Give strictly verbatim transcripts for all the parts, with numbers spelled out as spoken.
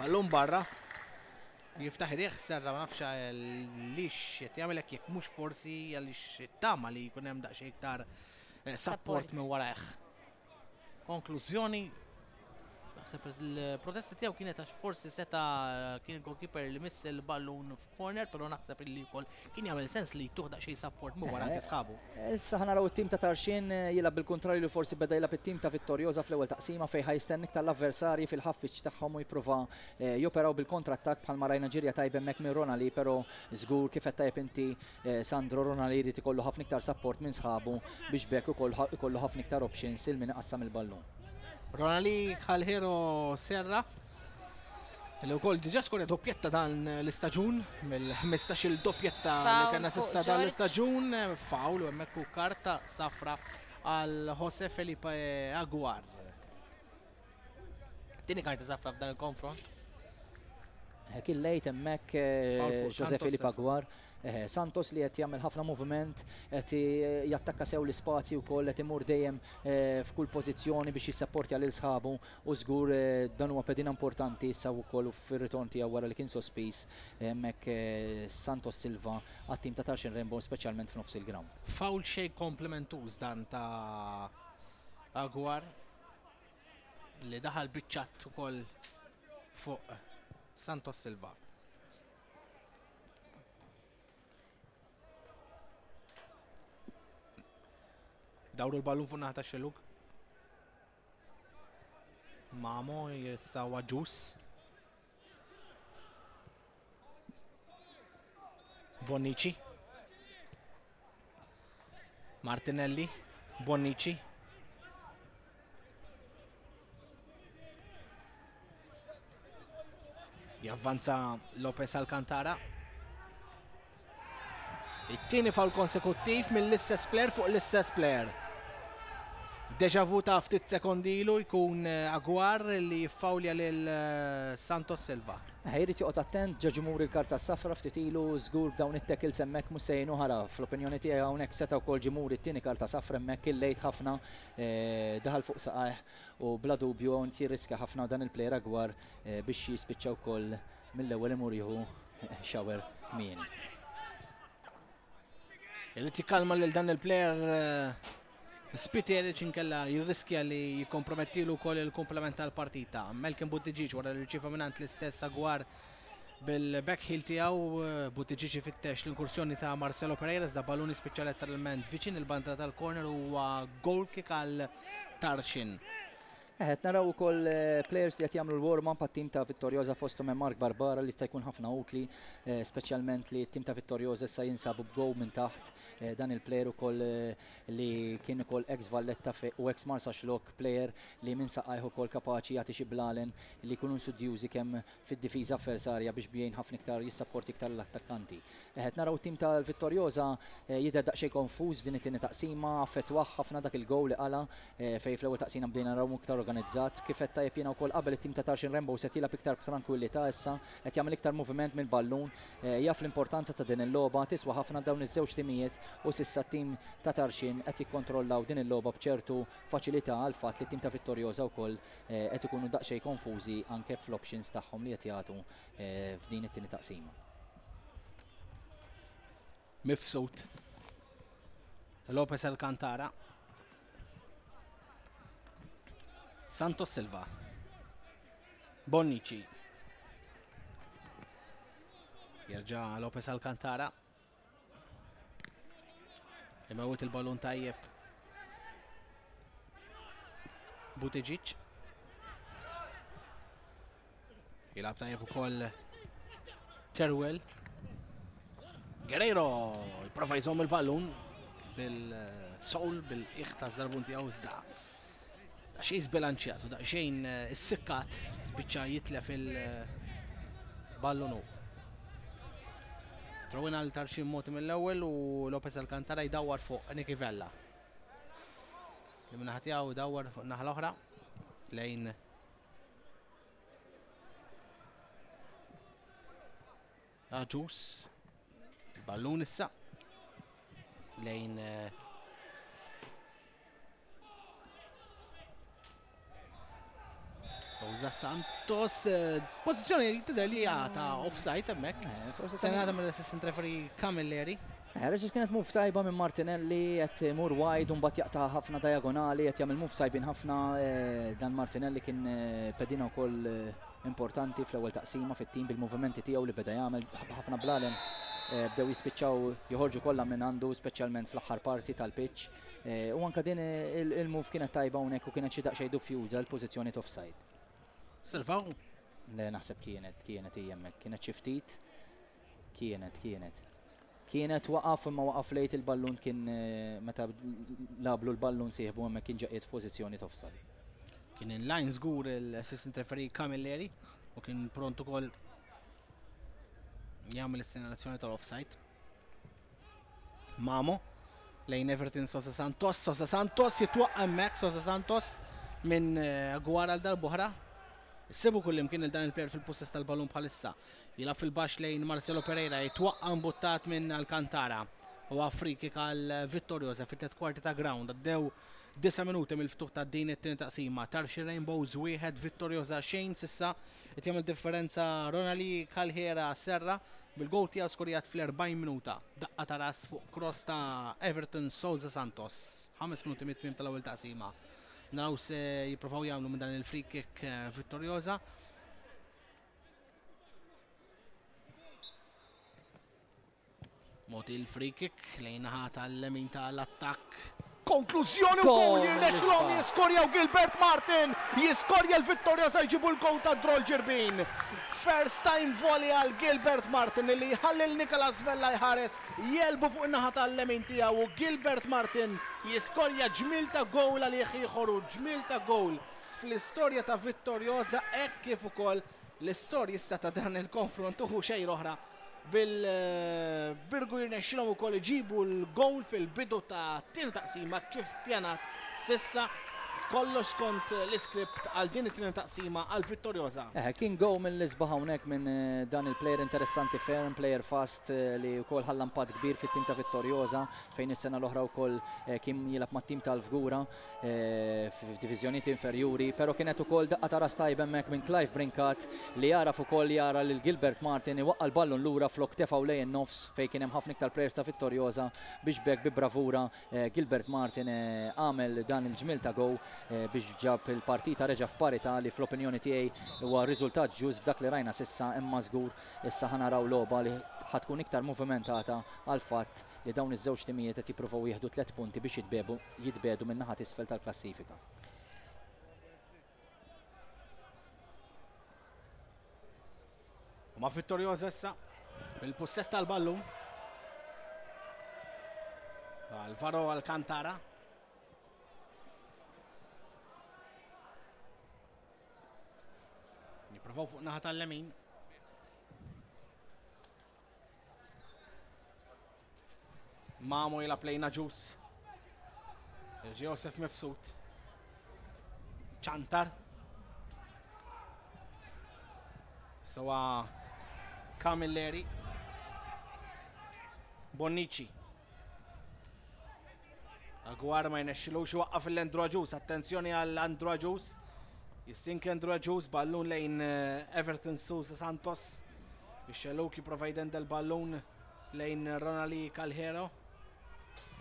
Ballun barra. Jiftaħ idejh Serra, ma nafx għaliex qed jagħmel hekk, jekk mhux forsi għaliex tama li jkun hemm daqsxejn iktar eh, support minn warajh. Konklużjoni, naħseb il-protesta tiegħu kienet għax forsi seta kien il-goalkeeper li miss il-ballun f'corner, però naħseb li wkoll kien jagħmel sens li jtuh daqsxejn support minn wara anke sħabu. Issa ħa naraw it-tim ta' Tarxien eh, jilgħab bil-kontrarju li forsi beda jilgħab it-tim ta' Vittoriosa fl-ewwel taqsima, fejn ħa jistenna tal-avversarji fil-half pitch tagħhom u jipprova eh, joperaw bil kontrattak, bħalma rajna ġirja tajba hemmhekk minn Ronali, però żgur, kif qed tajjeb inti eh, Sandro, Ronali jrid ikollu ħafna iktar support minn sħabu biex bekk ukoll ikollu ħafna iktar options il min iqassam il-ballun. Ronali Calhero Serra li wkoll diġà skorja doppjetta dan l-istaġun mill-ħmistax-il doppjetta li Foul kellna fuq s'issa dan George. l-istaġun. Foul u hemmhekk u karta safra għal Jose Felipe Aguar. Tieni karta safra f'dan il-konfront. Kien lejt hemmhekk eh, Foul fuq Jose Santos Felipe Silva. Aguar. Eh, Santos li qed jagħmel ħafna moviment, qed jattakka sew l-ispazji wkoll, qed imur dejjem eh, f'kull pożizzjoni biex jissapportja lil sħabu u żgur eh, dan huwa pedina importanti issa wkoll fir-ritorn tiegħu wara li kien sospiż hemmhekk eh, Santos Silva għat-tim ta' Tarxien Rainbow, speċjalment f'nofs il-ground. Foul xejn komplimentuż dan ta' Aguar li daħal biċċat ukoll fuq Santos Silva. Dawru l-ballun fuq naħa tax-xellug. Mamo jistawa ġus. Bonnici. Martinelli. Bonnici. Javvanza Lopez Alcantara. It-tieni foul konsekuttiv mill-istess player fuq l-istess player. Deja vu ta' ftit sekondi ilu, jkun eh, Aguar li jiffawlja lil eh, Santos Silva. Jrid joqgħod attent, ġa muri l-karta safra ftit ilu, żgur b'dawn it-tackles hemmhekk mhux se jgħinu ħara. Fl-opinjoni tiegħi hawnhekk seta' wkoll ġie muri t-tieni karta safra hemmhekk, il-lejt ħafna eh, daħal fuq saqajh u bla dubju hawn jirriska ħafna dan il-player Aguar eh, biex jispiċċa wkoll mill-ewwel imur jieħu shower kmieni. Irid jikkalma lil dan il-player eh, Spiteri, inkella jirriskja li jikkompromettilu wkoll il-komplement tal-partita. Melkin Buttigieg wara li rċieva mingħand l-istess Aguar bil-backheel tiegħu, eh, Buttigieg ifittex l-inkursjoni ta' Marcelo Pereira, iżda ballun jispiċċa letteralment viċin il-banda tal-corner, huwa goal kick għal Tarxien. Qed naraw ukoll eh, players li qed jagħmlu l-warm-up għat-tim ta' Vittoriosa, fosthom hemm Mark Barbara li jista' jkun ħafna utli, eh, speċjalment li t-tim ta' Vittoriosa issa jinsabu b'goal minn taħt. Eh, dan il-player ukoll li kien ukoll ex Valletta u ex Marsaxlokk, player li minn saqajh ukoll kapaċi jagħti xi blalen li jkunu sudjużi kemm fid-difiża avversarja biex bjejn ħafna iktar jissapporti iktar l-attakkanti. Qed naraw tim tal-Vittoriosa jidher daqsxejn konfuż din it-tieni taqsima, affettwah ħafna dak il-goal li qala, fejn fl-ewwel taqsima bdejna naraw iktar organizzat. Kif qed tajjeb jiena wkoll qabel, it-tim ta' Tarxien Rainbow se jilgħab iktar b'tranquillità issa, qed jagħmel iktar moviment mill-ballun, eh, jaf l-importanza ta' din il-logħba, tiswa ħafna dawn iż-żewġ timijiet u s'issa t-tim ta' Tarxien qed jikkontrollaw din il-logħba b'ċertu faċilità għal fatt li t-tim ta' Vittoriosa wkoll eh, qed ikunu daqsxejn konfużi anke fl-options tagħhom li qed jagħtu eh, f'din it-tieni taqsima. Mifsud. Lopez Alcantara. Santos Silva. Bonnici. Jerġa' Lopez Alcantara. Imewwet il-ballun tajjeb. Buttigieg. Jilgħab tajjeb ukoll Teruel. Guerrero jipprova jżomm il-ballun bil-sowl, bil-iħ ta' żarbun tiegħu, iżda daqsxejn żbilanċjat u daqsxejn eh, issikkat spiċċa jitlef il-ballun. Throw-in għal Tarxien mogħti mill-ewwel u Lopez Alcantara jdawwar fuq Nicky Vella. Li min-naħa tiegħu jdawwar fuq naħa l-oħra lejn Aġus. Ballun issa lejn eh, Souza Santos, pożizzjoni tidher li ta' offside hemmhekk. Senata mill-assistant referee Camilleri. Reġis kienet move tajba minn Martinelli, qed imur wide u mbagħad jaqta' ħafna diagonali, qed jagħmel move sajbin ħafna. Dan Martinelli kien pedina wkoll importanti fl-ewwel taqsima fit-tim bil-movimenti tiegħu li beda jagħmel ħafna blalem bdew jispiċċaw joħorġu kollha minn għandu, speċjalment fl-aħħar parti tal-pitch. U anke din il-move kienet tajba hawnhekk u kienet xi daqsxejn dubjuża l-pożizzjoni offside. Silvaw? Le, naħseb kienet, kienet hemmhekk, kienet xi ftit. Kienet, kienet. Kienet waqaf imma waqaf lejt il-ballun kien meta lablu l-ballun sieħbu hemmhekk kien ġaqiet f'pożizzjoni offside. Kien in line żgur l-assistant referee Camilleri u kien pront ukoll jagħmel is-sinjalazzjoni tal-offside. Mamo lejn Everton Sosa Santos, Sosa Santos jitwaqqa hemmhekk, Sosa Santos minn Gwar għal darb'oħra. Sibu kullimkien il dan il-player fil-possess tal-ballun bħalissa. Jilgħab fil-baxx lejn Marcelo Pereira, jitwaqqa mbuttat minn Alcantara. U free kick għal Vittoriosa fit-tliet kwarti ta' ground. Għaddew disa' minuti mill-ftuħ ta' din it-tieni taqsima. Tarxien Rainbows wieħed, Vittoriosa xejn sissa. Qed jagħmel differenza Ronali Calhera Serra bil-goal tiegħu skorjat fl-erbgħin minuta. Daqqa ta' ras fuq cross ta' Everton Souza Santos. Ħames minuti mit-tmiem tal-ewwel taqsima. Naraw se jippruvaw jagħmlu minn dan il-free kick Vittoriosa. Moti il-free kick lejn naħa tal-lemin tal-attakk. Konklużjoni u goal jirnexxilhom jiskorjaw Gilbert Martin, jiskorja l-Vittoriosa jġibu l-goal ta' Drol Ġirbin. First time volley għal Gilbert Martin li jħalli l-Nicolas Vella jħares, jelbu fuq in-naħa tal-lemin tiegħu u Gilbert Martin jiskorja ġmil ta' goal għal ieħor u ġmil ta' goal fl-istorja ta' Vittoriosa hekk kif ukoll l-istorja issa ta' dan il-konfront uħu xejn oħra bil-Birgu jirnexxilhom ukoll iġibu l-goal fil-bidu ta' tieni taqsima kif pjanat sissa kollox skont l-iskript għal din it-tieni taqsima għal Vittoriosa. Eh, kien go mill-isbaħ hawnhekk minn dan il-player interessanti ferm, player fast li wkoll ħalla impatt kbir fit-tim ta' Vittoriosa fejn is-sena l-oħra wkoll kien jilgħab mat-tim tal-Fgura f'diviżjonijiet inferjuri, però kienet ukoll daqqa ta' ras tajba hemmhekk minn Clive Brincat li jaraf ukoll jara lil Gilbert Martin iwaqqa' l-ballun lura flok tefgħu lejn in-nofs fejn kien hemm ħafna iktar players ta' Vittoriosa biex b'hekk bi bravura Gilbert Martin għamel dan il-ġmil ta' go biex ġab il-partita reġa' f'parità li fl-opinjoni tiegħi huwa riżultat ġust f'dak li rajna sissa, imma żgur issa ħanaraw logħba li ħatkun iktar movimentata għal fatt li dawn iż-żewġ timijiet qed jippruvaw jieħdu tliet punti biex jitbedu minn naħa t'isfel tal-klassifika. Ma Vittoriosa issa bil-possess tal-ballun. Alvaro Alcantara. Jippruvaw fuq naħa tal-lemin. Mamo jilgħab lejn Aġus. Josef Mifsud. Ċantar. Sewa Camilleri. Bonnici. Aguar ma jnexxilux iwaqqaf l-Andrew Agius. Attenzjoni għal Andrew Agius. Jistinki Andrew Agius, ballun lejn Everton Souza Santos. Ix-xelluk jipprova jdendel ballun lejn Ronali Calhero.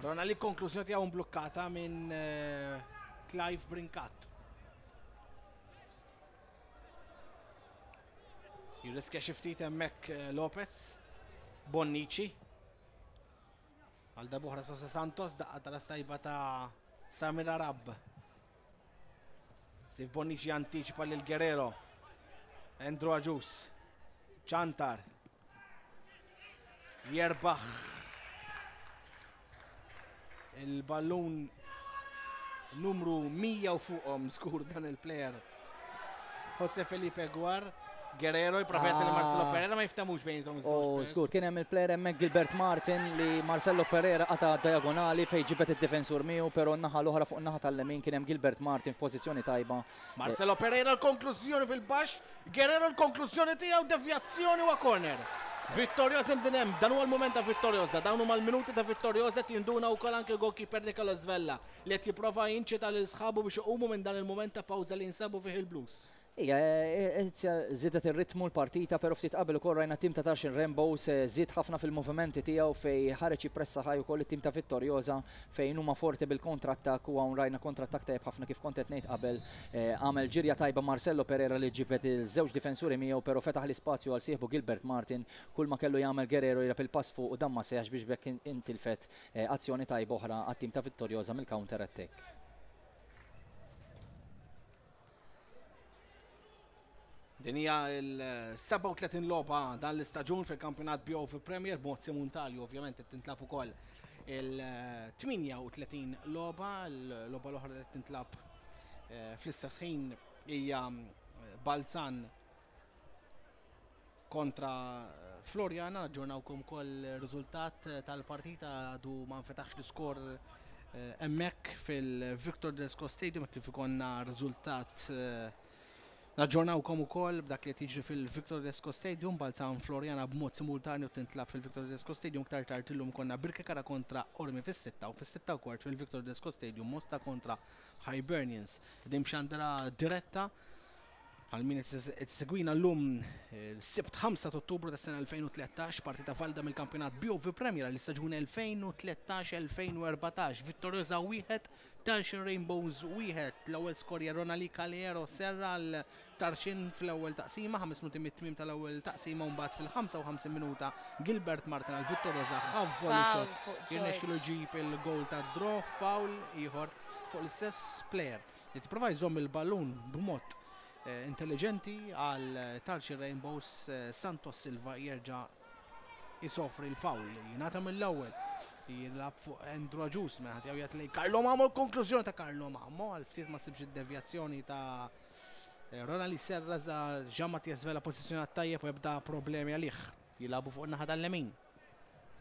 Ronali konklużjoni tiegħu mblukkata minn Clive Brincat. Jirriskja xi ftit hemmhekk Lopez. Bonnici. Għal darb'oħra Souza Santos, daqqa tal-astajba ta' Samir Arab. Steve Bonnici antiċipa lil Guerrero. Andrew Agius. Ċantar. Jerbaħ il-ballun numru mija u fuqhom żgur dan il-player. Jose Felipe Guar. Guerrero jipprova li Marcelo Pereira ma jiftamux bejnietom iż-żewġ. Oh, żgur kien hemm il-player hemmhekk Gilbert Martin li Marcelo Pereira qata' diagonali fejn ġibet id-difensur miegħu, però n-naħa l-oħra fuq in-naħa tal-lemin kien hemm Gilbert Martin f'pożizzjoni tajba. Marcelo Pereira l-konklużjoni fil-baxx, Guerrero l-konklużjoni tiegħu, devjazzjoni wa corner. Vittoriosa din hemm, dan huwa l-mument ta' Vittoriosa, dawn huma l-minuti ta' Vittoriosa qed jinduna wkoll anke l-goalkeeper Nicolas Vella li qed jipprova jinċita lil sħabu biex iqumu minn dan il-mument ta' pawża li jinsabu fih il-Blues. Ija, żiedet ir-ritmu l-partita, pero ftit qabel ukoll rajna tim ta' Tarxien Rainbows żied ħafna fil-movimenti tiegħu fej ħareġ jippressa ħaj ukoll it-tim ta' Vittoriosa fejn huma forti bil kontrattak u hawn rajna kontrattak tajjeb ħafna kif kont qed ngħid qabel. Għamel ġirja tajba Marcello Pereira li ġibet il-żewġ difensuri miegħu, pero fetaħ l-ispazju għal sieħbu Gilbert Martin, kull ma kellu jagħmel Guerrero jirab il-pass fuq u dan ma seħx biex bekk intilfet azzjoni tajba oħra għat-tim ta' Vittoriosa mill-counter attack. Din hija l-sebgħa u tletin logħba dan l-istaġun fil-kampjonat B O V Premier b'mod simultanju, ovvjament qed tintlab ukoll il-tmienja u tletin logħba, l-logħba l-oħra li tintlab fl-istess ħin hija Balzan kontra Floriana. Aġġornawkom ukoll riżultat tal-partita, għadu ma nfetaħx l-iskor hemmhekk fil-Victor Tedesco Stadium kif ikonna riżultat. Naġġornawkom ukoll b'dak li qed jiġri fil-Victor Tedesco Stadium, Balzan Floriana b'mod simultanju tintlab fil-Victor Tedesco Stadium. Ktar tard illum konna Birkirkara kontra Ormi fis-sitta u fis-sitta u kwart fil-Victor Tedesco Stadium Mosta kontra Hibernians. Din xandra diretta għal min qed segwina llum sibt ħamsa ta' Ottubru tas-sena elfejn u tlettax, partita valida mill-kampjonat B O V Premier għall-istaġun elfejn u tlettax elfejn u erbatax. Vittoriosa wieħed, Tarxien Rainbows wieħed. L-ewwel skorja Ronali Calero Serra għal Tarxien fl-ewwel taqsima, ħames minuti mit-tmiem tal-ewwel taqsima, u mbagħad fil-ħamsa u ħamsin minuta Gilbert Martin għal Vittoriosa ħavvu l-xot. Jirnexxielu ġib il-goal ta' draw, foul ieħor fuq l-istess player li tipprova jżomm il-ballun b'mod intelligenti għal Tarxien Rainbows. Santos Silva jerġa' jisofri l-foul, jingħata mill-ewwel, jilgħab fuq Andrew Agius, mela ħadd jgħid lejn Carlo Mamo, l-konklużjoni ta' Carlo Mamo għal ftit ma ssibx id-devjazzjoni ta' Ronali Serra, za Jean Mathias Vella pożizzjonat tajjeb u jibda problemi għalih. Jilagħbu fuq in-naħa tal-lemin.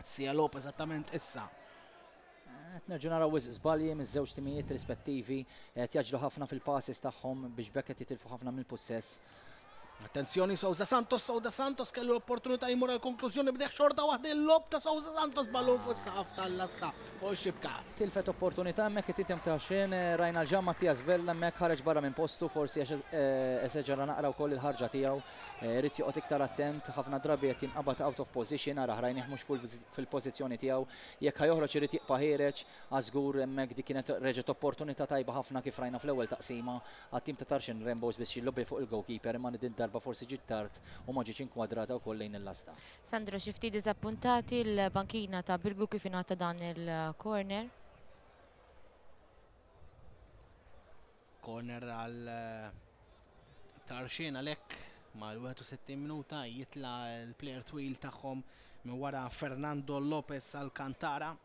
Sia Lopez eżattament issa. Qed nerġgħu naraw wisq żbalji miż-żewġ timijiet rispettivi, qed jaġlu ħafna fil-passes tagħhom biex bekk qed jitilfu ħafna mill-pussess. Attenzjoni Souza Santos, Souza Santos kellu opportunità jmur għal konklużjoni b'deħ xorta waħda il-lob ta' Souza Santos, ballun fuq is-saqaf tal-lasta fuq ix-xibka. Tilfet opportunità hemmhekk it-tim ta' xejn, rajna l-Jean Mathias Vella hemmhekk ħareġ barra minn postu, forsi għax eseġera naqra wkoll il-ħarġa tiegħu, irid joqgħod iktar attent, ħafna drabi qed jinqabad out of position, ara rajnih mhux fil-pożizzjoni tiegħu, jekk ħajoħroġ irid jibqa' ħiereġ, għażgur hemmhekk dik kienet reġgħet opportunità tajba ħafna kif rajna fl-ewwel taqsima għat-tim ta' Tarxien Rainbows biex jillobbi fuq il-goalkeeper, imma din darba forsi ġiet tard u ma ġietx inkwadrata wkoll lejn il-lasta. Sandro, xi ftit diżappuntati l-bankina ta' Birgu kif ingħata dan il-corner? Corner għal Tarxien għalhekk mal-wieħed u sittin minuta jitla l-player twil tagħhom minn wara Fernando Lopez Alcantara.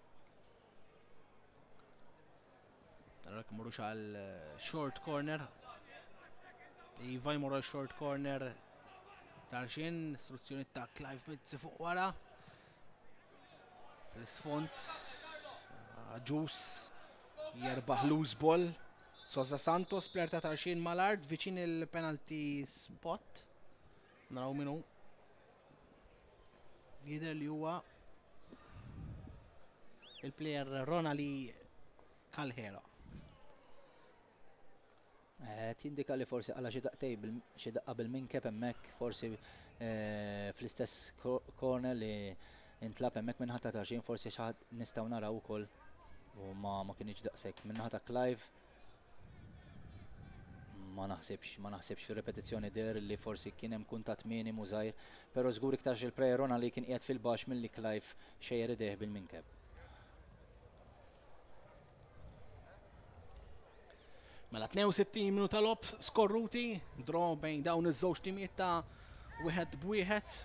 Allora murux għal short corner. Iva jmorru għal short corner Tarxien, istruzzjoni ta' Clive Mizzi fuq wara. Fl-isfond Agius jerbaħ loose ball. Souza Santos, player ta' Tarxien mal-art, viċin il-penalty spot. Naraw minnu. Jidher li huwa il-player Ronali Calhero. Tindika li forsi għala xi daqtej xi daqqa bil-minkeb hemmhekk, forsi fl-istess corner li intlab hemmhekk minn ħadd ta' Tarxien, forsi xi ħadd nistgħu naraw ukoll u ma, ma kienx daqshekk. Minn ħadd ta' Clive ma naħsibx, ma naħsibx fir-repetizzjoni der li forsi kien hemm kuntatt minimu żgħir, però żgur iktar il-player Ronali kien qiegħed fil-baxx milli Clive xejjer idejh bil-minkeb. Mela tnejn u sittin minuta logħob skorruti, draw bejn dawn iż-żewġ timijiet ta' wieħed b'wieħed.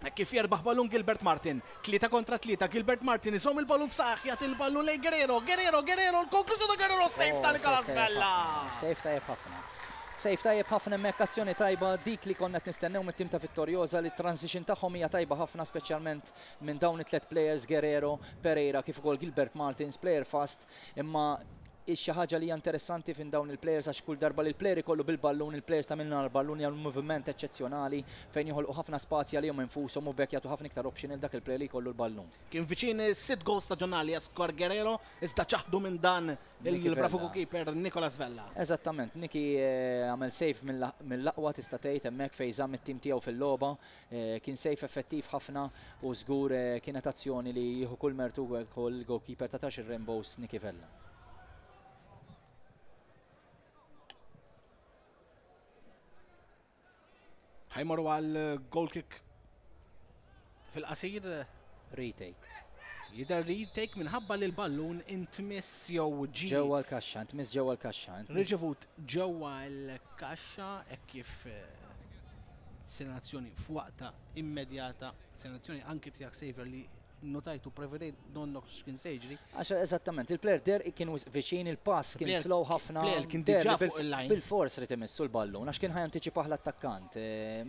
Hekk kif jerbaħ ballun Gilbert Martin, tlieta kontra tlieta, Gilbert Martin iżomm il-ballun f'saħħ, jagħti il-ballun lejn Guerrero, Guerrero, Guerrero, l-konklużjoni ta' Guerrero, save Oh, ta' Nicolas save tajjeb Vella. ħafna. Save tajjeb ħafna. Save tajjeb ħafna hemmhekk, azzjoni tajba dik li konna qed nistennew mit-tim ta' Vittoriosa, li t-transition tagħhom hija tajba ħafna, speċjalment minn dawn it-tliet players, Guerrero, Pereira, kif ukoll Gilbert Martins, player fast, imma Xi ħaġa li hija interessanti fin dawn il-players għax kull darba li l-player ikollu bil-ballun, il-players ta' minna l-ballun jagħmlu moviment eċċezzjonali fejn joħolqu ħafna spazji għalihom infushom u bekk jagħtu ħafna iktar option il dak il-player li jkollu l-ballun. Kien viċin sitt goals staġjonali Oscar Guerrero, iżda ċaħdu minn dan il-bravu goalkeeper Nicolas Vella. Eżattament, Niki għamel save mill-aqwa tista' tgħid hemmhekk fejn żamm it-tim tiegħu fil-logħba, kien save effettiv ħafna u żgur kienet azzjoni li jieħu kull mertu wkoll il-goalkeeper ta' Tarxien Rainbows Niki Vella. Ħa jmorru għal goal kick fil-qasir. Retake. Jidher retake minħabba li l-ballun intmiss jew ġi. Ġewwa l-kaxxa, intmiss ġewwa l-kaxxa. Riċevut ġewwa l-kaxxa hekk kif segnalazzjoni f'waqta immedjata, segnalazzjoni anki tiegħek Xavier li notajtu prevedejt donnok x'kien se jiġri. Għax eżattament, il-player der kien viċin il-pass kien slow ħafna. Player kien diġà fuq il-line. Bil-fors rid imissu l-ballun għax kien ħa jantiċipah l-attakkant.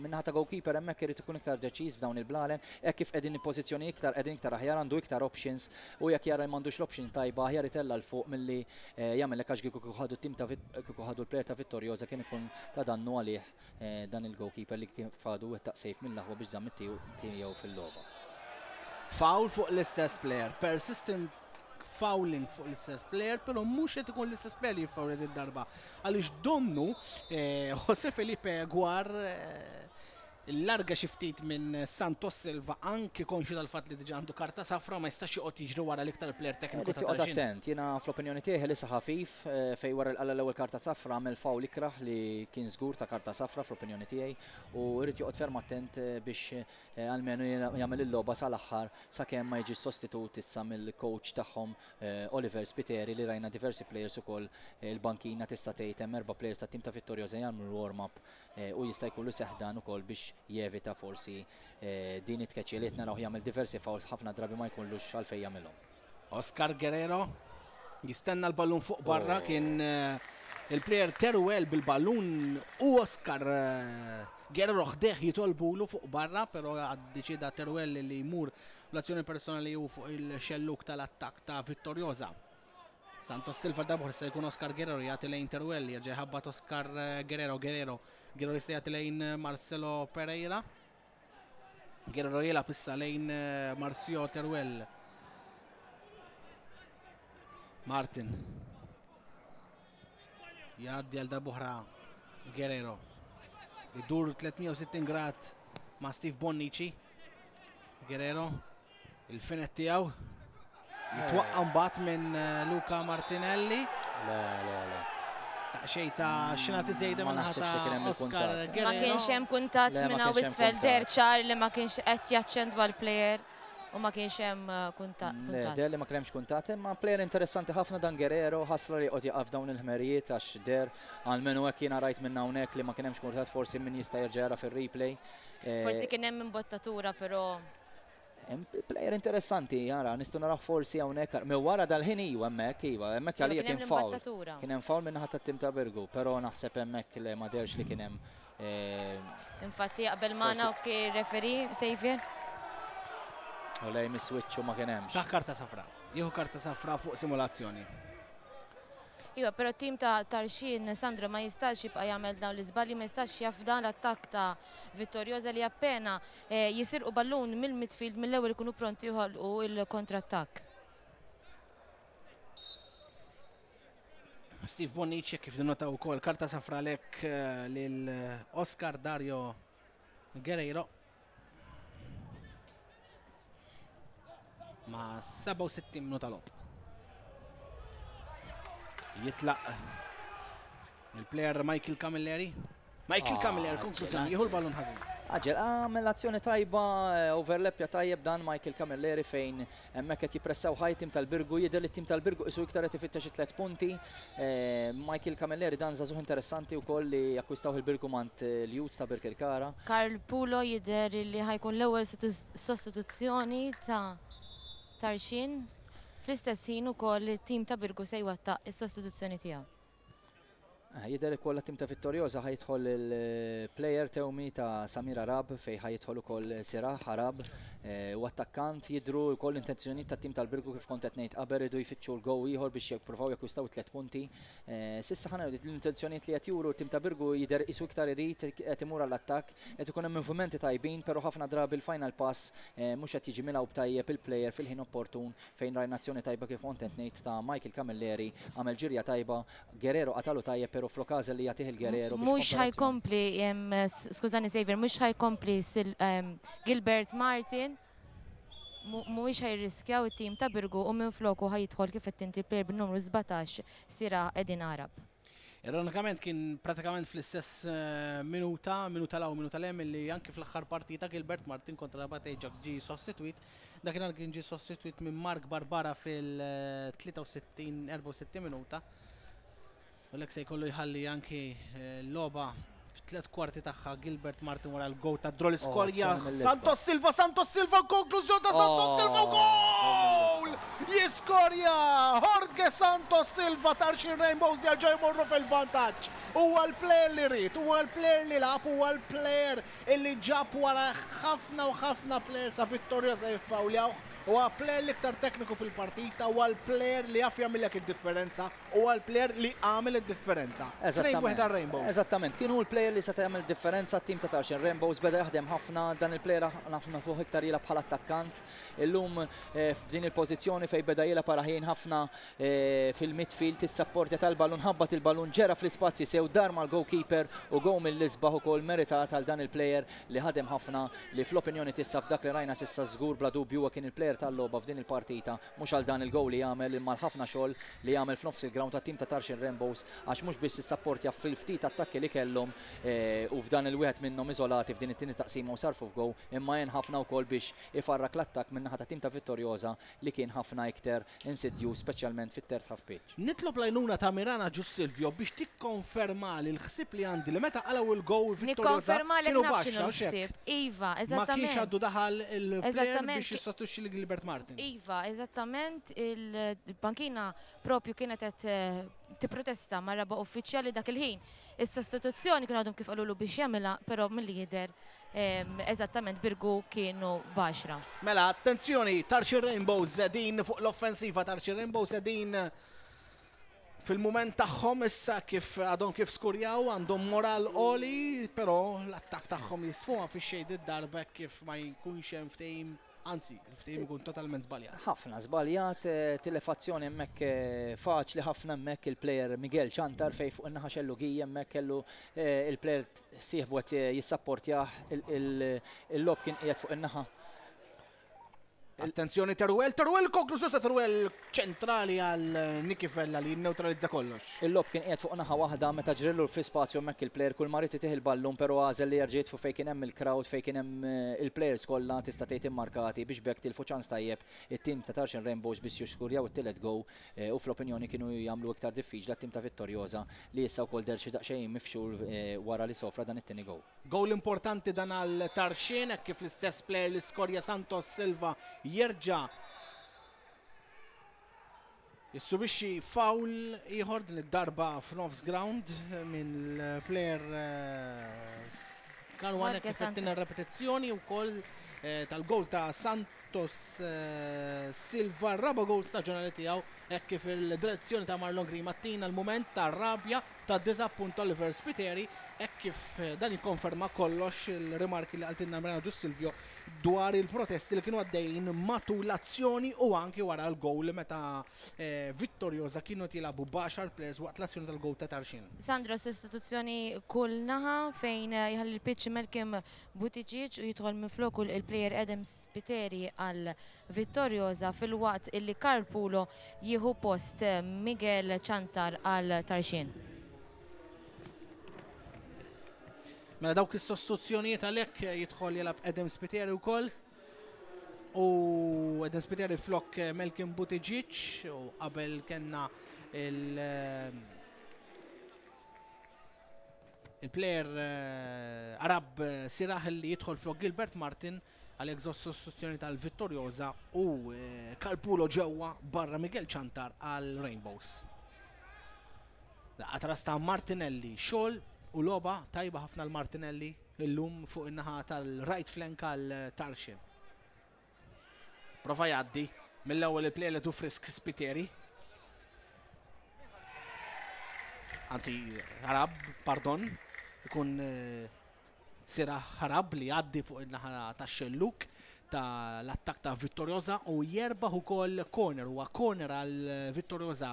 Min-naħa ta' goalkeeper hemmhekk irid ikun iktar deċiż f'dawn il-blalen, hekk kif qegħdin pożizzjoni iktar qegħdin iktar aħjar għandu iktar options u jekk jara m'għandux l-option tajba aħjar itella' 'l fuq milli jagħmel hekk għax kieku ħadu t-tim ta' kieku ħadu l-player ta' Vittoriosa kien ikun ta' dannu għalih dan il-goalkeeper li kien fadu wettaq save mill-aħwa biex żamm it-tim tiegħu fil-logħba. Foul fuq l-istess player, persistent fouling fuq l-istess player, pero mhux qed ikun l-istess player li jiffawlja id-darba. Għaliex donnu Jose Felipe Guar larga xi ftit minn Santos Silva anki konxu tal-fatt li diġà għandu karta safra ma jistax joqgħod jiġri wara l-iktar player tekniku ta' Tarxien. Attent, jiena fl-opinjoni tiegħi li ħafif fejn wara l-qala l-ewwel karta safra għamel foul ikrah li kien żgur ta' karta safra fl-opinjoni tiegħi u jrid joqgħod ferm attent biex almenu jagħmel il-logħba sal-aħħar sakemm ma jiġi sostitut issa mill-coach tagħhom Oliver Spiteri li rajna diversi players ukoll il-bankina tista' tgħid hemm erba' players tat-tim ta' Vittoriosa jagħmlu warm-up u jista' jkollu seħdan ukoll biex jevita forsi din it-tkeċċi li qed naraw jagħmel diversi fouls ħafna drabi ma jkunlux għalfejn jagħmilhom. Oscar Guerrero jistenna l-ballun fuq barra, kien il-player Teruel bil-ballun u Oscar Guerrero ħdejh jitolbulu fuq barra, però ddeċieda Teruel li jmur l-azzjoni personali u fuq il-xelluk tal-attak ta' Vittoriosa. Santos Silva darba se jkun Oscar Guerrero jagħti lejn Teruel, jerġa' jħabbat Oscar Guerrero, Guerrero, Guerrero jista' jagħti lejn Marcelo Pereira. Guerrero jilgħab issa lejn Marcio Teruel. Martin. Jgħaddi għal darb'oħra Guerrero. Idur tliet mija u sittin grad ma' Steve Bonnici. Guerrero il-finet tiegħu jitwaqqa mbagħad minn Luca Martinelli. Le, le, le. Daqsxejn ta' xina tiżejda Ma minn naħsibx li ħata kien hemm Oscar il-kuntatt. Guerrero. Ma kienx hemm kuntatt Le, ma minn hawn kienx hemm isfel, kuntatt. der ċar li ma kienx qed jaċċentwa l-player u ma kienx hemm kuntatt. Le, der li ma kienx kuntatt, imma player interessanti ħafna dan Guerrero, ħasra li qed jaqaf dawn il-ħmerijiet għax der għalmenu hekk jiena rajt minn hawnhekk li ma kien hemmx kuntatt, forsi min jista' jerġa' jara fir-replay. Forsi kien hemm imbottatura, però Hemm player interessanti, jara, nistgħu naraw forsi hawnhekk, minn wara dal-ħin iwa hemmhekk, iwa, hemmhekk Iva, għalija kien hemm kien foul. l-imbottatura. Kien hemm foul minn naħa tat-tim ta' Birgu, però naħseb hemmhekk li ma derx li kien hemm, eh, Infatti jaqbel magħna forsi u kien referee Xavier. U lej mis-switch u ma kien hemmx. Ta' karta safra. Jieħu karta safra fuq simulazzjoni. Iva, però t-tim ta' Tarxien, Sandro, ma jistax jibqa' jagħmel dawn l-iżbalji, ma jistax jafda l-attakk ta' Vittoriosa li appena, eh, jisirqu ballun mill-midfield mill-ewwel ikunu pronti joħolqu il-kontrattakk. Steve Bonnici kif dinota wkoll karta safra lek, eh, lil Oscar Dario Guerrero. Ma' sebgħa u sittin minuta logħob. Jitlaq il-player Michael Camilleri. Michael Ah, Camilleri, konklużjoni, ġenat. jieħu l-ballun ħażin. Aġel, għamel azzjoni tajba, eh, overlapja tajjeb dan Michael Camilleri fejn hemmhekk qed jippressaw ħaj tim tal-Birgu, jidher li tim tal-Birgu isu iktar qed ifittex tliet punti. Eh, Michael Camilleri dan żagħżugħ interessanti wkoll li akkwistaw il-Birgu mant, eh, l-Youths ta' Birkirkara. Karl Pulo jidher li ħajkun l-ewwel sostu-, sostituzzjoni ta' Tarxien. Fl-istess ħin ukoll it-tim ta' Birgu se jwettaq is-sostituzzjoni tiegħu. Jidher ukoll tim ta' Vittoriosa ħa jidħol il-player Tewmi ta' Samir Arab, fejn ħa jidħol ukoll Sirah Arab u attakkant. Jidru wkoll intenzjoni ta' tim tal-Birgu, kif kont qed ngħid qabel, iridu jfittxu l-goal ieħor biex jippruvaw jakkwistaw tliet punti. S'issa ħana l-intenzjonijiet li qed juru tim ta' Birgu jidher isu iktar irid qed imur għall-attakk, qed ikun hemm movimenti tajbin, però ħafna drabi il-final pass mhux qed jiġi milgħub tajjeb il-player fil-ħin opportun, fejn rajna azzjoni tajba, kif kont qed ngħid, ta' Michael Camilleri, għamel ġirja tajba, Guerrero qatalu tajjeb, però flok li jagħtih il-Guerrero. Mhux ħa jkompli, skużani Xavier, mhux ħa jkompli Gilbert Martin, mhuwiex ħa jirriskjaw it-tim ta' Birgu u minn floku ħa jidħol, kif qed inti, player bin-numru sbatax, Sira Edin Arab. Ironikament kien pratikament fl-istess minuta, minuta 'l hawn, minuta 'l hemm, li anki fl-aħħar partita Gilbert Martin kontra Rabat Ajax ġi sostituit. Dakinhar kien ġi sostituit minn Mark Barbara fil-tlieta u sittin erbgħa u sittin minuta. U l se jkollu jħalli anki l-logħba f'tliet kwarti tagħha Gilbert Martin wara l-goal ta' draw skorja. Santos Silva, Santos Silva, konklużjoni ta' Santos Silva, gol! Jiskorja Jorge Santos Silva. Tarxien Rainbows jerġgħu jmorru fil-vantaġġ. Huwa l-player li rrid, huwa l-player li lagħab, huwa l-player illi ġab wara ħafna u ħafna players sa Vittoriosa jiffawljawh. Huwa player l-iktar tekniku fil-partita, huwa l-player li jaf jagħmilek id-differenza, huwa l-player li għamel id-differenza. Eżattament. Eżattament, kienu l-player li seta' jagħmel differenza. Tim ta' Tarxien Rainbows beda jaħdem ħafna, dan il-player ħafna fuq iktar jilgħab bħala attakkant. Illum eh, f'din il-pożizzjoni fejn beda jilgħab paraħin ħafna eh, fil-midfield, is-sapportja tal-ballun, ħabbat il-ballun, ġera fl-ispazji sew, dar mal-goalkeeper u goal mill-isbaħ ukoll meritat għal dan il-player li ħadem ħafna, li fl-opinjoni tissa f'dak li rajna s'issa żgur bla dubju kien il-player tal-logħba f'din il-partita, mhux għal dan il-goal li jagħmel imma ħafna xogħol li jagħmel f'nofs il-ground tat-tim ta' Tarxien Rainbows, għax mhux biex sissapportja fil-ftit attakki li kellhom eh, u f'dan il-wieħed minnhom iżolati f'din it-tieni taqsima u sarfu f'goal, imma jien ħafna wkoll biex ifarrak l-attakk min-naħa ta' tim ta' Vittoriosa li kien ħafna iktar insidju, speċjalment fit-third half pitch. Nitlob l-għajnuna ta' Mirana Ġus Silvio biex tikkonferma li l-ħsib li għandi li meta qalgħu il-goal Vittoriosa kienu baxxa. Iva, eżattament. Ma kienx għaddu daħal il-player biex jissostitwixxi li Gilbert Martin. Iva, eżattament, il-bankina propju kienet qed eh, tipprotesta ma' raba' uffiċjali dak il-ħin. Is-sostituzzjoni kienu għadhom kif qalulu biex jagħmilha, però milli jidher eżattament Birgu kienu b'għaxra. Mela, attenzjoni, Tarxien Rainbows qegħdin fuq l-offensiva, Tarxien Rainbows qegħdin fil-moment tagħhom issa kif għadhom kif skurjaw, għandhom moral għoli, però l-attak tagħhom jisfuma fi xejn id-darba kif ma jkunx hemm ftehim. Anzi, il-ftehim ikun totalment żbaljat. Ħafna żbaljat, eh, tilef azzjoni hemmhekk eh, faċli ħafna hemmhekk il-player Miguel Ċantar, fejn fuq in-naħa xellugija hemmhekk kellu eh, il-player sieħbu qed jissapportjah, il-lob kien qiegħed fuq in-naħa. Attenzjoni Teruel, Teruel, konklużjoni ta' Teruel ċentrali għal Niki Vella li neutralizza kollox. Il-lob kien qiegħed fuq naħa waħda meta ġrillu fi spazju hemmhekk il-player, kull ma rid itih il-ballun, però għażel li jerġa' fuq fejn kien hemm il-crowd, fejn kien hemm eh, il-players kollha tista' tgħid immarkati, biex b'hekk tilfu ċans tajjeb it-tim ta' Tarxien Rainbows biex jiskurjaw it-tielet goal eh, u fl-opinjoni kienu jagħmlu iktar diffiċli t-tim ta' Vittoriosa li issa wkoll deher xi daqsxejn mifxul eh, wara li sofra dan it-tieni goal. Goal importanti dan għal Tarxien kif l-istess player li skorja, Santos Silva, jerġa' jissubixxi foul ieħor, din id-darba f'nofs ground minn l-player Karwan, kif qed repetizzjoni wkoll eh, tal-goal ta' Santos eh, Silva, raba goal staġjonali tiegħu, hekk kif il-direzzjoni ta' Marlon Green Mattina l-moment ta' rabja, ta' disappunt Oliver Spiteri, hekk kif eh, dan jikkonferma kollox il-rimarki li qaltilna Mirana Ġus Silvio dwar il-protesti li kienu għaddejjin matul l-azzjoni u anki wara l-goal meta Vittoriosa kienu jilagħbu b'għaxar players waqt l-azzjoni tal-goal ta' Tarxien. Sandro, sostituzzjoni kull naħa, fejn jħalli l-pitch Melkim Buttigieg u jidħol minn floku il-player Adam Spiteri għal Vittoriosa, filwaqt illi Karl Pulo jieħu post Miguel Ċantar għal Tarxien. Mela dawk is-sostituzzjonijiet għalhekk jidħol jilgħab Adam Spiteri wkoll. U Adam Spiteri flok Melkim Buttigieg, u qabel kellna il- il-player eh, Arab Sirah li jidħol flok Gilbert Martin, għal sostituzzjoni tal-Vittoriosa, u eh, Kalpulo ġewwa, barra Miguel Ċantar għal Rainbows. Daqqa ta' ras ta' Martinelli, xogħol u logħba tajba ħafna l-Martinelli illum fuq in-naħa tal-right flank għal Tarxien. Prova jgħaddi mill-ewwel il-player li Frisk Spiteri. Anzi, Harab, pardon, ikun Sira Harab li jgħaddi fuq in-naħa tax-xelluk tal-attak ta' Vittoriosa u jerbaħ ukoll corner, huwa corner għal Vittoriosa.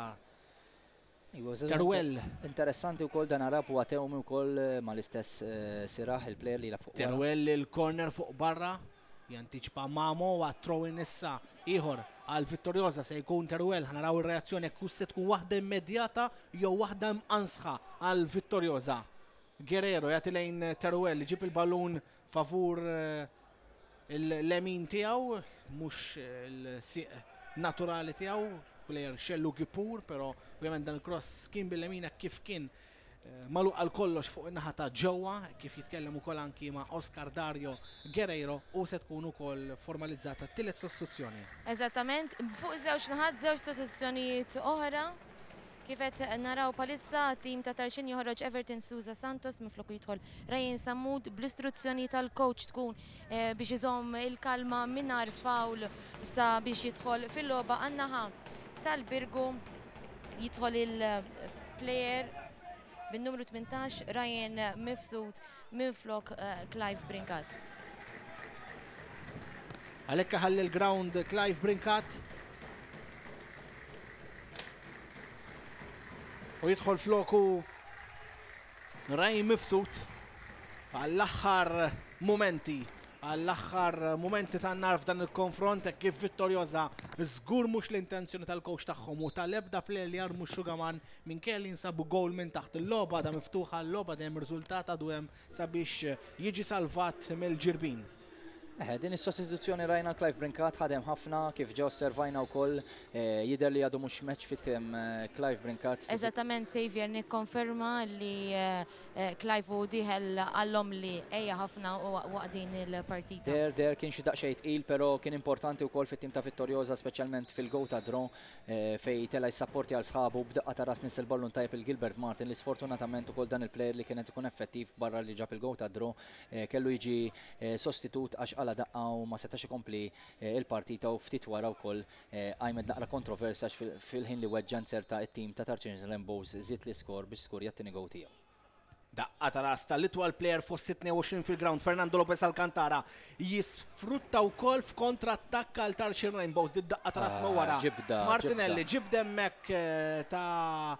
Teruel. Interessanti wkoll dan Arab huwa tewmi wkoll mal-istess Sirah il-player li jilgħab fuq. Teruel il-corner fuq barra, jantiċpa Mamo u throw-in issa ieħor għal Vittoriosa se jkun Teruel. Ħa naraw ir-reazzjoni jekk se tkun waħda immedjata jew waħda mqansħa għal Vittoriosa. Guerrero jagħti lejn Teruel, ġib il-ballun favur il-lemin tiegħu, mhux il-sieq naturali tiegħu, player xellu gipur, pero ovvjament dan il-cross kien bil-lemina kif kien magħluq għal kollox fuq in-naħa ta' ġewwa, kif jitkellem ukoll anki ma' Oscar Dario Guerrero, u se tkun ukoll formalizzata t-tielet sostituzzjoni. Eżattament, fuq żewġ naħat żewġ sostituzzjonijiet oħra. Kif qed naraw palissa tim ta' Tarxien joħroġ Everton Souza Santos minflok jidħol Ryan Sammut bl-istruzzjoni tal-coach tkun biex iżomm il-kalma mingħajr foul sa biex jidħol fil-logħba. Għan-naħa tal-Birgu jidħol il-player bin-numru tmintax Ryan Mifsud minflok Clive Brincat. Għalhekk ħalli l-ground Clive Brincat u jidħol floku Ryan Mifsud għall-aħħar momenti, għall-aħħar momenti tan-nar f'dan il-konfront kif Vittoriosa żgur mhux l-intenzjoni tal-coach tagħhom u tal-ebda player li jarmu x-xugaman minkejja li jinsabu goal minn taħt. Il-logħba da miftuħa, l-logħba dejjem riżultat għadu hemm sabiex jiġi salvat mill-Ġirbin. Eh, din is-sostituzzjoni rajna Clive Brincat ħadem ħafna kif ġew osservajna wkoll jidher li għadu mhux match fit-tim Clive Brincat. Eżattament, Xavier, nikkonferma li Clive u diħel għallhom li ejja ħafna waqt din il-partita. Der der kien xi daqsxejn tqil, però kien importanti wkoll fit-tim ta' Vittoriosa, speċjalment fil-go ta' draw fejn tela' jissapporti għal sħabu b'daqqa ta' ras nies il-ballun tajjeb il-Gilbert Martin li sfortunatament ukoll dan il-player li kienet ikun effettiv barra li ġab il-go ta' draw kellu jiġi sostitut għax għala daqqa u ma setax ikompli il-partita u ftit wara wkoll qajmet naqra kontroversja fil-ħin li weġġa nzerta it-tim ta' Tarxien Rainbows żied l-iskor biex skurja t-tieni goal tiegħu. Daqqa ta' ras tal-itwal player fost tnejn u għoxrin fil-ground Fernando Lopez Alcantara jisfrutta wkoll f'kontrattakk għal Tarxien Rainbows. Di daqqa ta' ras ma' wara. Martinelli ġibda hemmhekk ta'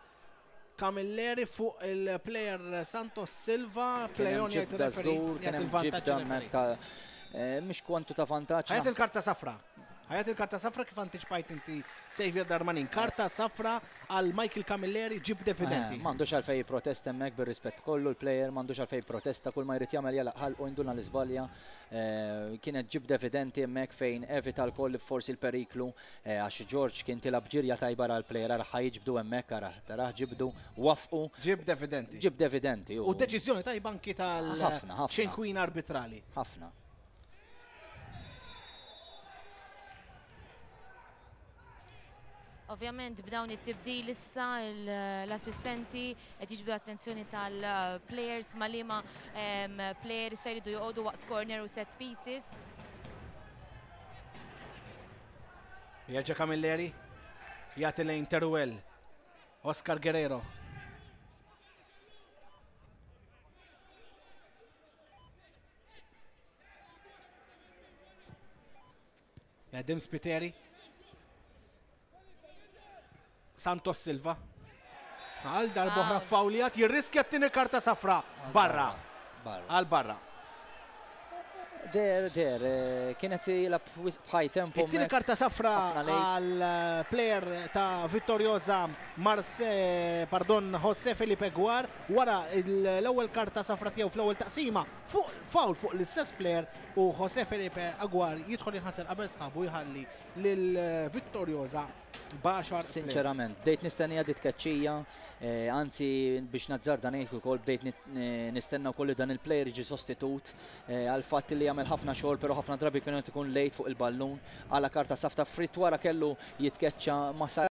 Camilleri fuq il-player Santos Silva, plejon jgħid referee jgħid il-vantaġġ. Mhux kwantu ta' vantaġġ. Ħajat il-karta safra. Ħajat il-karta safra kif antiċipajt inti Xavier Darmanin. Karta safra għal Michael Camilleri ġib evidenti. M'għandux għalfejn protesta hemmhekk bir-rispett kollu l-player, m'għandux għalfejn protesta, kull ma jrid jagħmel jalaq ħalqu induna l-iżbalja. Kienet ġibda evidenti hemmhekk fejn evita l-koll forsi l-periklu għax George kien tilab ġirja tajba għal player ara ħa jiġbdu hemmhekk ara taraħ ġibdu wafqu. Ġibda evidenti. Ġibda evidenti. U deċiżjoni tajba anki tal-ċinkwina arbitrali. Ħafna. Ovvjament b'dawn it-tibdil issa l-assistenti qed jiġbdu attenzjoni tal-players ma' liema players se jridu joqogħdu waqt corner u set pieces. Jerġa' Camilleri jagħti lejn Teruel, Oscar Guerrero. Jadim Spiteri. Santos Silva. Għal darba oħra fawlijat, jirriskja t-tieni karta safra. Barra. Għal barra. Der, der, kienet jilab bħaj tempo. It-tieni karta safra għal player ta' Vittoriosa Marse, pardon, Jose Felipe Guar, wara l-ewwel karta safra tiegħu fl-ewwel taqsima fuq foul fuq l-istess player u Jose Felipe Aguar jidħol jinħasel qabel sħabu jħalli lil Vittoriosa b'għaxar. Sinċerament, bdejt nistennija dit tkeċċija, anzi biex nazzarda ngħid ukoll bdejt nistenna wkoll li dan il-player jiġi sostitut għal fatt li jagħmel ħafna xogħol, però ħafna drabi kienu ikun lejt fuq il-ballun għala karta safta frit wara kellu jitkeċċa ma sar.